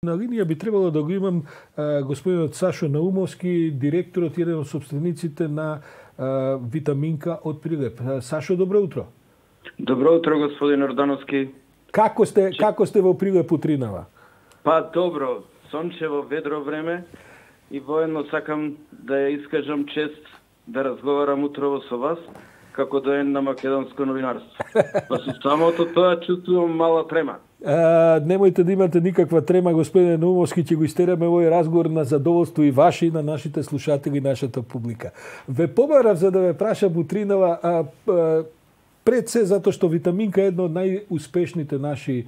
На линија би требало да го имам господинот Сашо Наумовски, директорот и еден од собствениците на Витаминка од Прилеп. Сашо, добро утро. Добро утро, господин Ордановски. Како сте во Прилеп утринава? Па добро, сончево, ведро време и воедно сакам да ја искажам чест да разговарам утрово со вас како доен на македонско новинарство. Па со самото тоа чувствувам мала трема. Немојте да имате никаква трема, господине Наумовски, ќе го истераме овој разговор на задоволство и ваше и на нашите слушатели и нашата публика. Ве побарав за да ве прашам утринава, пред се затоа што Витаминка е една од најуспешните наши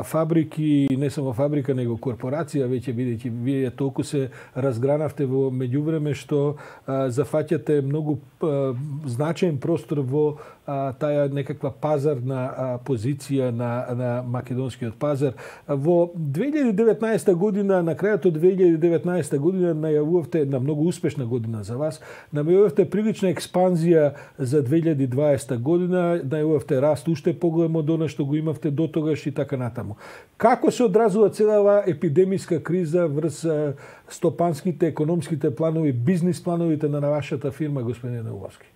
фабрики, не само фабрика, него корпорација, веќе бидејќи вие толку се разгранавте во меѓувреме што зафаќате многу значаен простор во таа некаква пазарна позиција на македонскиот пазар. Во 2019 година, на крајот од 2019 година најавувавте една многу успешна година за вас, најавувавте прилична експанзија за 2020 година, најавувавте раст уште поголем од она што го имавте до тогаш и така натаму. Како се одразува целава епидемиска криза врз стопанските, економските планови, бизнис плановите на вашата фирма, господин Наумовски?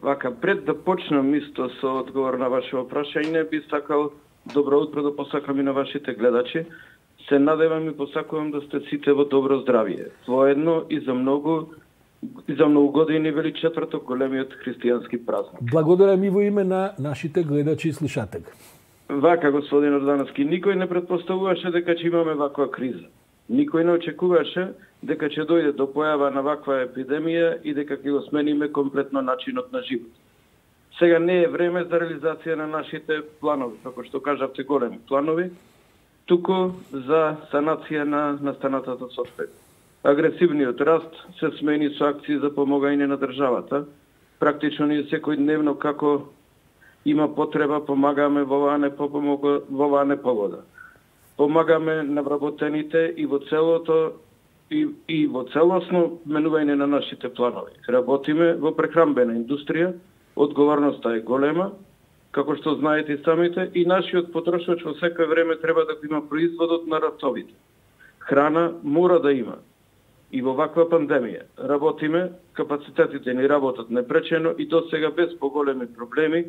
Вака, пред да почнам исто со одговор на вашето прашање, би сакал добро утро да посакам и на вашите гледачи. Се надевам и посакувам да сте сите во добро здравје. Воедно и за многу години вели четврток големиот христијански празник. Благодарам и во име на нашите гледачи и слушатели. Вака, господин Ордановски, никој не претпоставуваше дека ќе имаме ваква криза. Никој не очекуваше дека ќе дојде до појава на ваква епидемија и дека ќе го смениме комплетно начинот на живот. Сега не е време за реализација на нашите планови, како што кажавте, големи планови, туку за санација на настанатата состојба. Агресивниот раст се смени со акции за помогање на државата. Практично ние секојдневно како има потреба помагаме во оваа непогода. Помагаме на вработените и во целото и во целосно менување на нашите планови. Работиме во прехранбена индустрија, одговорноста е голема, како што знаете и самите, и нашиот потрошач во секој време треба да има производот на ратовите. Храна мора да има. И во ваква пандемија работиме, капацитетите ни работат непречено и до сега без поголеми проблеми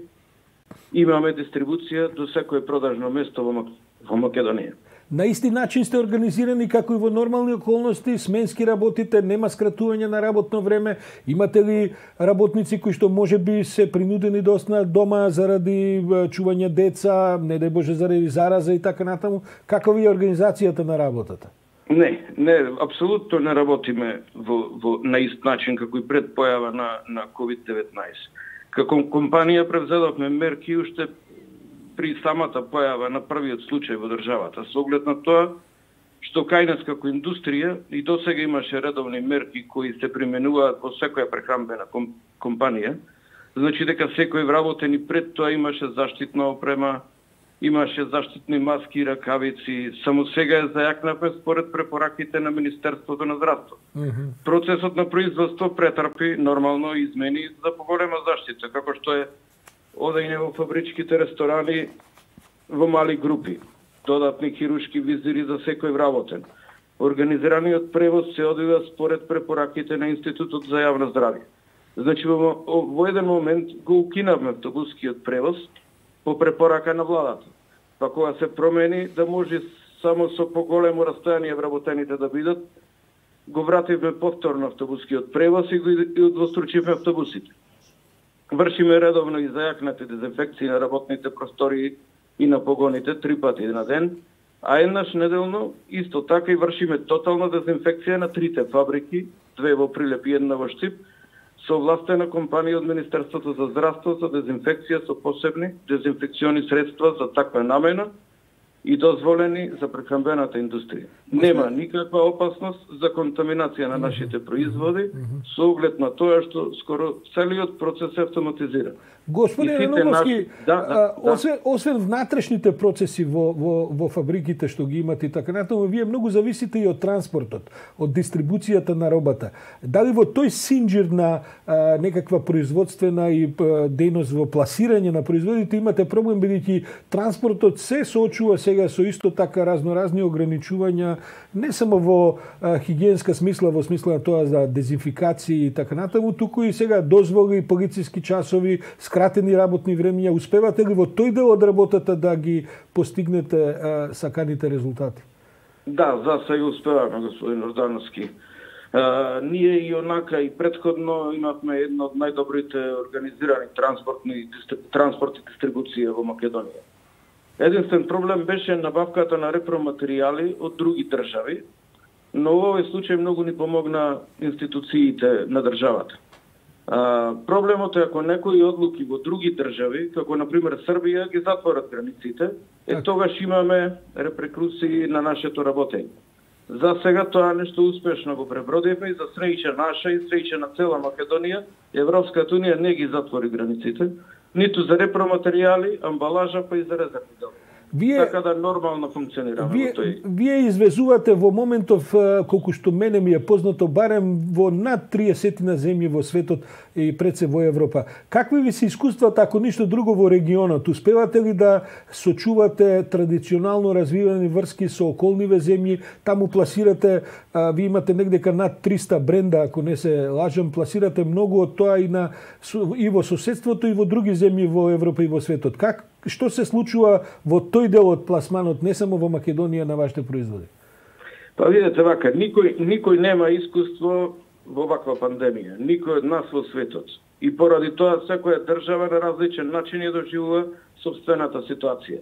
имаме дистрибуција до секое продажно место во Македонија. На исти начин сте организирани како и во нормални околности, сменски работите, нема скратување на работно време. Имате ли работници кои што можеби се принудени да останат дома заради чување деца, не дај Боже заради зараза и така натаму? Каква е организацијата на работата? Не, апсолутно не работиме на ист начин како и пред појава на COVID-19. Како компанија превзедовме мерки уште при самата појава на првиот случај во државата, со оглед на тоа што кај нас како индустрија и досега имаше редовни мерки кои се применуваат во секоја прехранбена компанија, значи дека секој вработен и пред тоа имаше заштитна опрема, имаше заштитни маски, ракавици, само сега е зајакнавме според препораките на Министерството на здравство. Процесот на производство претрпи нормално измени за поголема заштита, како што е одење во фабричките ресторани во мали групи, додатни хирушки визири за секој вработен. Организираниот превоз се одвива според препораките на Институтот за јавно здравје. Значи во еден момент го укинавме автобускиот превоз по препорака на владата. Па кога се промени да може само со поголемо растојание вработените да бидат, го вративме повторно автобускиот превоз и го удвостручивме автобусите. Вршиме редовно и зајакнати дезинфекции на работните простори и на погоните 3 пати на ден, а еднаш неделно исто така и вршиме тотална дезинфекција на 3 фабрики, 2 во Прилеп и 1 во Штип, со овластена компанија од Министерството за здравство за дезинфекција со посебни дезинфекциони средства за таква намена и дозволени за прехранбената индустрија. Нема никаква опасност за контаминација на нашите производи со оглед на тоа што скоро целиот процес е автоматизиран. Господине Наумовски, освен внатрешните процеси во фабриките што ги имате и така натаму, вие многу зависите и од транспортот, од дистрибуцијата на робата. Дали во тој синџир на некаква производствена и дејност во пласирање на производите имате проблем, бидејќи транспортот се соочува сега со исто така разноразни ограничувања, не само во хигиенска смисла, во смисла на тоа за дезинфикација и така натаму, туку и сега дозволи, полициски часови, скратени работни времења. Успевате ли во тој дел од работата да ги постигнете саканите резултати? Да, за сега успеваме, господин Ордановски. Ние и онака и предходно имавме едно од најдобрите организирани транспорт и дистрибуција во Македонија. Единствен проблем беше набавката на репроматеријали од други држави, но во овој случај многу ни помогна институциите на државата. Проблемот е ако некои одлуки во други држави, како например Србија, ги затворат границите, тогаш имаме репрекусии на нашето работење. За сега тоа нешто успешно го пребродивме и за среќа наша и среќа на цела Македонија, Европската унија не ги затвори границите, ниту за репроматеријали, амбалажа, па и за резервни делови. Така да нормално функционираме. Вие извезувате во моментов, колку што мене ми е познато, барем во над 30 земји во светот и пред се во Европа. Какви ви се искуствата, ако ништо друго, во регионот? Успевате ли да сочувате традиционално развивани врски со околниве земји? Таму пласирате, ви имате негдека над 300 бренда, ако не се лажам, пласирате многу од тоа и во соседството и во други земји во Европа и во светот. Што се случува во тој дел од пласманот, не само во Македонија, на вашите производи? Па видете вака, никој нема искуство во ваква пандемија, никој од нас во светот. И поради тоа секоја држава на различен начин ја доживува собствената ситуација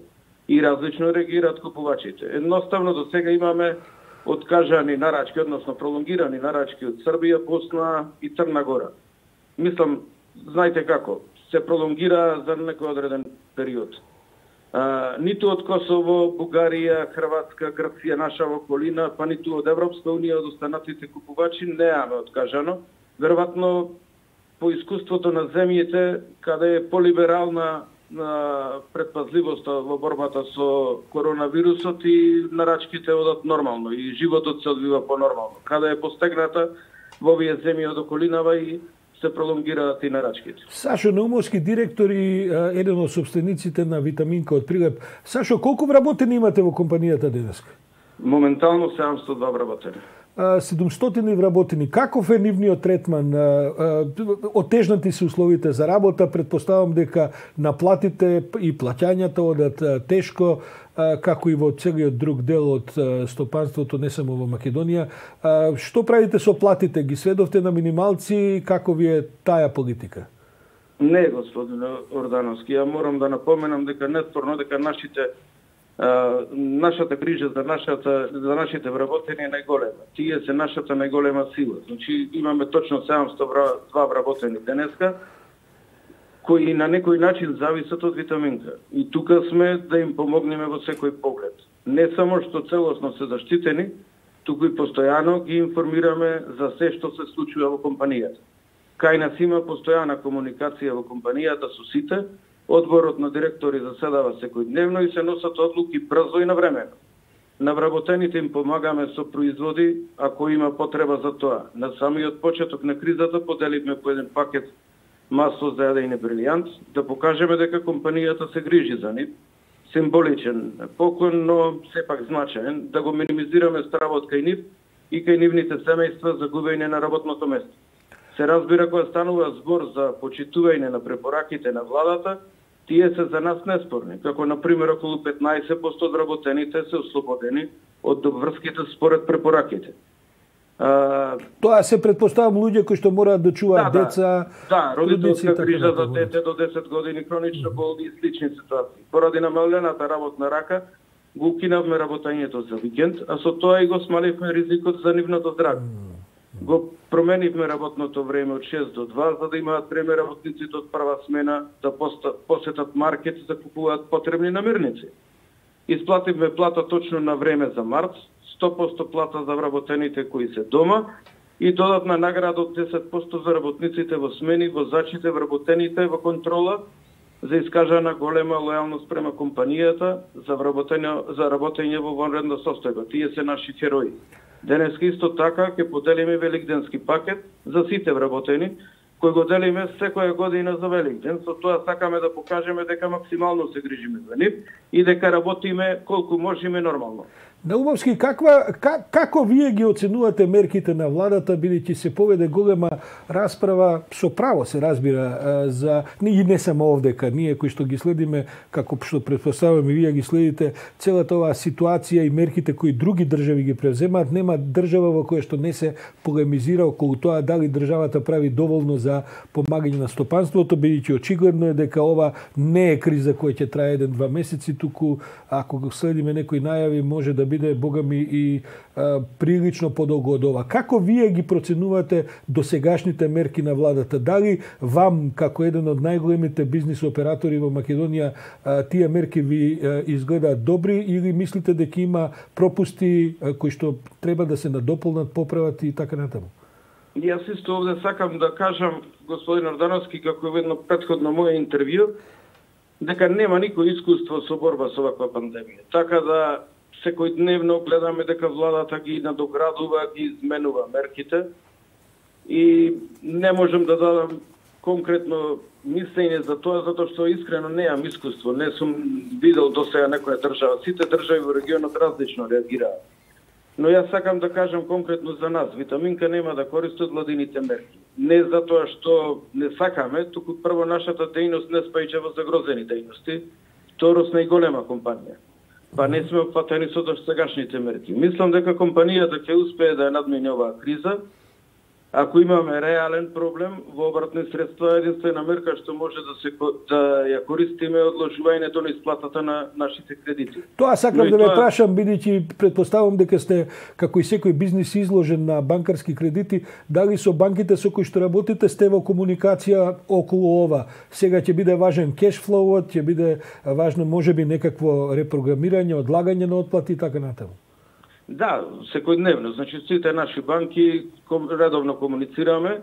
и различно реагираат купувачите. Едноставно до сега имаме откажани нарачки, односно пролонгирани нарачки од Србија, Босна и Црна Гора. Мислам, знаете како, се пролонгира за некој одреден период. Ниту од Косово, Бугарија, Хрватска, Грција, наша околина, па ниту од Европска унија, од останатите купувачи неаме откажано. Веројатно по искуството на земјите каде е полиберална предпазливоста во борбата со коронавирусот и нарачките одат нормално и животот се одвива понормално. Каде е постигната во овие земји од околинава и се пролонгираат и нарачките. Сашо Наумовски, директор и еден од собствениците на Витаминка од Прилеп. Сашо, колку вработени имате во компанијата денеска? Моментално 702 вработени. 700 вработени. Каков е нивниот третман? Отежнати се условите за работа, предпоставам дека наплатите и плаќањата одат тешко, како и во целиот друг дел од стопанството, не само во Македонија. Што правите со платите? Ги сведовте на минималци? Како ви е таа политика? Не, господин Ордановски, ја морам да напоменам дека неспорно дека нашата грижа за нашите вработени е најголема. Тие се нашата најголема сила. Значи имаме точно 702 вработени денеска, кои на некој начин зависат од Витаминка. И тука сме да им помогнеме во секој поглед. Не само што целосно се заштитени, туку и постојано ги информираме за се што се случува во компанијата. Кај нас има постојана комуникација во компанијата со сите, одборот на директори заседава секојдневно и се носат одлуки брзо и навремено. На вработените им помагаме со производи, ако има потреба за тоа. На самиот почеток на кризата поделивме по еден пакет масло за јадење брилијант, да покажеме дека компанијата се грижи за нив. Символичен поклон, но сепак значаен, да го минимизираме стравот кај нив и кај нивните семејства за губење на работното место. Се разбира кога станува збор за почитување на препораките на владата, тие се за нас неспорни, како например околу 15% од работените се ослободени од врските според препораките. Тоа се предпоставам луѓе кои што мораат да чуваат деца. Да, родителска грижа за дете до 10 години, хронично болни и слични ситуации. Поради намалената работна рака, го укинавме работењето за викенд, а со тоа и го смаливме ризикот за нивното здравје. Го променивме работното време од 6 до 2, за да имаат време работниците од прва смена да посетат маркет и да купуваат потребни намирници. Исплативме плата точно на време за март, 100% плата за вработените кои се дома и додатна награда од 10% за работниците во смени, возачите, вработените во контрола, за искажана голема лојалност према компанијата за работење во вонредна состојба. Тие се наши херои. Денеска исто така ќе поделиме великденски пакет за сите вработени, кој го делиме секоја година за Великден. Со тоа сакаме да покажеме дека максимално се грижиме за нив и дека работиме колку можеме нормално. Наумовски, како вие ги оценувате мерките на владата, бидејќи се поведе голема расправа, со право се разбира, за и не само овдека, ние кои што ги следиме, како што претпоставуваме вие ги следите, целата оваа ситуација и мерките кои други држави ги превземаат, нема држава во која што не се полемизира околу тоа дали државата прави доволно за помагање на стопанството, бидејќи очигледно е дека ова не е криза која ќе трае 1-2 месеци, туку ако го следиме некои најави може да биде богами и прилично подолго од ова. Како вие ги проценувате досегашните мерки на владата? Дали вам, како еден од најголемите бизнис оператори во Македонија, тие мерки ви изгледаат добри или мислите дека има пропусти кои што треба да се надополнат, поправат и така натаму? Јас исто овде сакам да кажам, господин Ордановски, како е едно претходно моје интервју, дека нема никој искуство со борба со оваква пандемија. Така да секојдневно гледаме дека владата ги надоградува, ги изменува мерките и не можам да дадам конкретно мислење за тоа, затоа што искрено неам искуство. Не сум видел досега некоја држава. Сите држави во регионот различно реагираат. Но јас сакам да кажам конкретно за нас. Витаминка нема да користи од владините мерки. Не затоа што не сакаме, туку прво нашата дејност не спаѓа во загрозени дејности. Второ, сме и голема компанија. Па не сме опфатени со досегашните мерки. Мислам дека компанијата ќе успее да ја надмине оваа криза. Ако имаме реален проблем во обратни средства, единствена мерка што може да ја користиме одложувањето на исплатата на нашите кредити. Тоа сакам да ве прашам, бидејќи претпоставувам дека сте, како и секој бизнис, изложен на банкарски кредити, дали со банките со кои што работите сте во комуникација околу ова? Сега ќе биде важен кешфлоуот, ќе биде важно можеби некакво репрограмирање, одлагање на отплати и така натаму. Да, секојдневно. Значи, сите наши банки редовно комуницираме,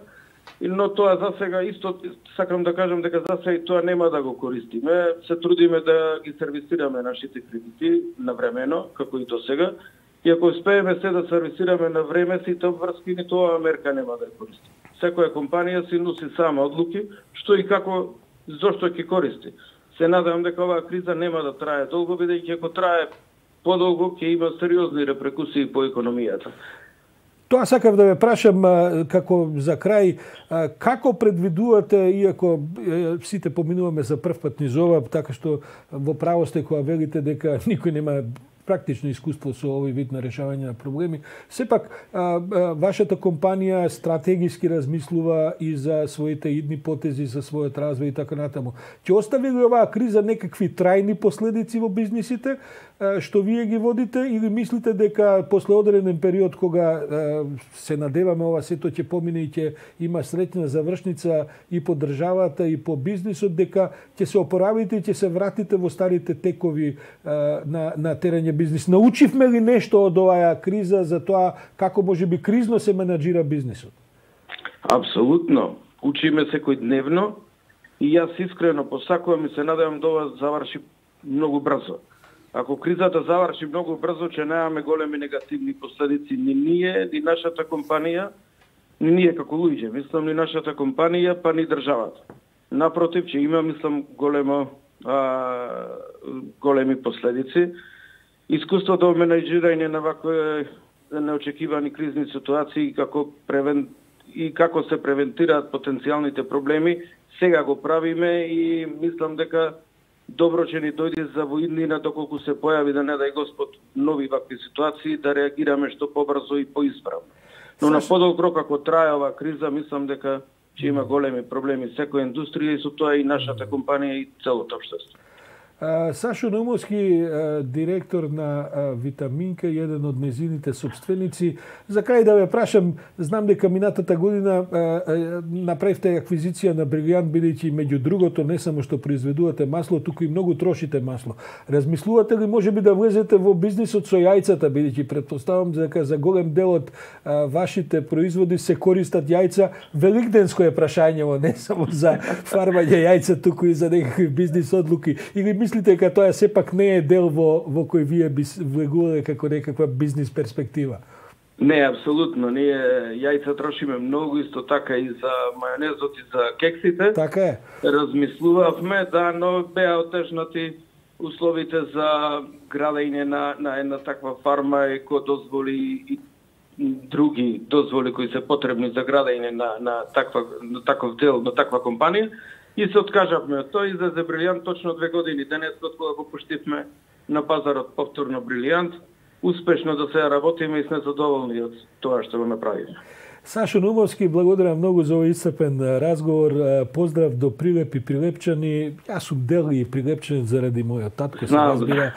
но тоа за сега исто сакам да кажам дека за сега и тоа нема да го користиме. Се трудиме да ги сервисираме нашите кредити навремено, како и до сега. И ако успееме се да сервисираме на време, сите обврски, ни тоа мерка нема да ја користи. Секоја компанија си носи сама одлуки, што и како, зошто ќе користи. Се надевам дека оваа криза нема да трае долго, бидејќи ако трае подолго ќе има сериозни репрекусии по економијата. Тоа сакав да ве прашам како за крај, како предвидувате, иако сите поминуваме за прв пат низ ова, така што во право сте кога велите дека никој нема практично искуство со овој вид на решавање на проблеми. Сепак, вашата компанија стратегиски размислува и за своите идни потези, за својот развој и така натаму. Ќе остави ли оваа криза некакви трајни последици во бизнисите, што вие ги водите, или мислите дека после одреден период кога се надеваме ова сето ќе помине и ќе има среќна завршница и по државата и по бизнисот, дека ќе се опоравите и ќе се вратите во старите текови на терење бизнис? Научивме ли нешто од оваа криза за тоа како можеби кризно се менаџира бизнисот? Апсолутно. Учиме секојдневно и јас искрено посакувам и се надевам да ова заврши многу брзо. Ако кризата заврши многу брзо, ќе немаме големи негативни последици ни ние, ни нашата компанија, ни ние како луѓе, мислам ни нашата компанија, па ни државата. Напротив, ќе има, мислам, големи последици. Искуството во менеџирање на вакви неочекивани кризни ситуации и како се превентираат потенцијалните проблеми, сега го правиме и мислам дека добро ќе ни дојде за во иднина доколку се појави, да не дај Господ, нови вакви ситуации, да реагираме што побрзо и поисправно. Но на подолг рок, ако трае оваа криза, мислам дека ќе има големи проблеми секоја индустрија и со тоа и нашата компанија и целото општество. Сашо Наумовски, директор на Витаминка, еден од незините собственици. За крај да ве прашам, знам дека минатата година направивте аквизиција на Брилијант, бидејќи меѓу другото не само што произведувате масло, туку и многу трошите масло. Размислувате ли можеби да влезете во бизнисот со јајцата, бидејќи претпоставам дека за голем дел од вашите производи се користат јајца? Великденско е прашањево, не само за фармање јајца, туку и за некакви бизнис одлуки. Или мислите дека тоа сепак не е дел во кој вие би влегувале како некаква бизнис перспектива? Не, апсолутно. Ние јајца трошиме многу, исто така и за мајонезот и за кексите. Така е. Размислувавме, да, но беа отежнати условите за градење на една таква фарма и кој дозволи и други дозволи кои се потребни за градење на таков дел, на таква компанија. И се откажавме од тоа и за Брилијант точно 2 години денес кога го пуштивме на пазарот повторно Брилијант. Успешно да се работиме и сме задоволни од тоа што го направиме. Сашо Наумовски, благодарам многу за овој исцрпен разговор. Поздрав до Прилеп и Прилепчани. Јас сум дел и Прилепчанин заради мојот татко, се разбира.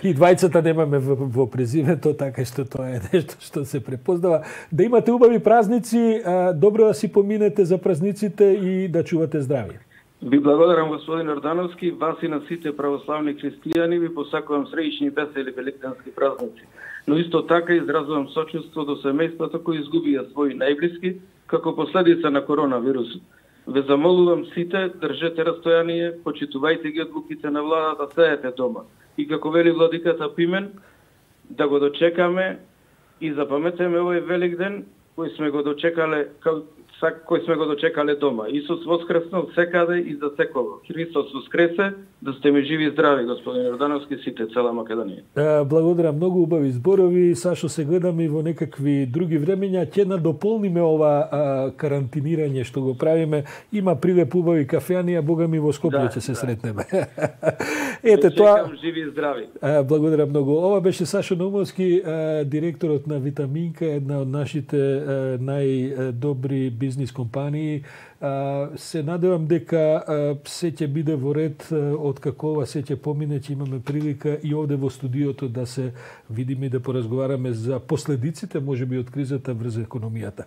И двајцата немаме во презимето, така што тоа е нешто што се препознава. Да имате убави празници, добро да си поминете за празниците и да чувате здравје. Ви благодарам, господин Ордановски, вас и на сите православни христијани, ви посакувам среќни весели великденски празници. Но исто така изразувам сочувство до семејствата кои изгубија своји најблиски како последица на коронавирусот. Ве замолувам сите, држете растојание, почитувајте ги одлуките на владата, сеете дома. И како вели владиката Пимен, да го дочекаме и запаметеме овој Великден кој сме го дочекале дома. Исус воскреснал секаде и за секого. Христос воскресе, да сте ми живи и здрави, господин Ордановски, сите, цела Македонија. Благодарам, многу убави зборови. Сашо, се гледаме и во некакви други времења. Ќе надополниме ова карантинирање што го правиме. Има Прилеп убави кафеанија, Бога ми во Скопје ќе се сретнеме. Ете тоа. Живи и здрави. Благодарам многу. Ова беше Сашо Наумовски, директорот на Витаминка, една од нашите најдобри бизнис компании. Се надевам дека се ќе биде во ред од како ова се ќе помине, ќе имаме прилика и овде во студиото да се видиме и да поразговараме за последиците можеби од кризата врз економијата.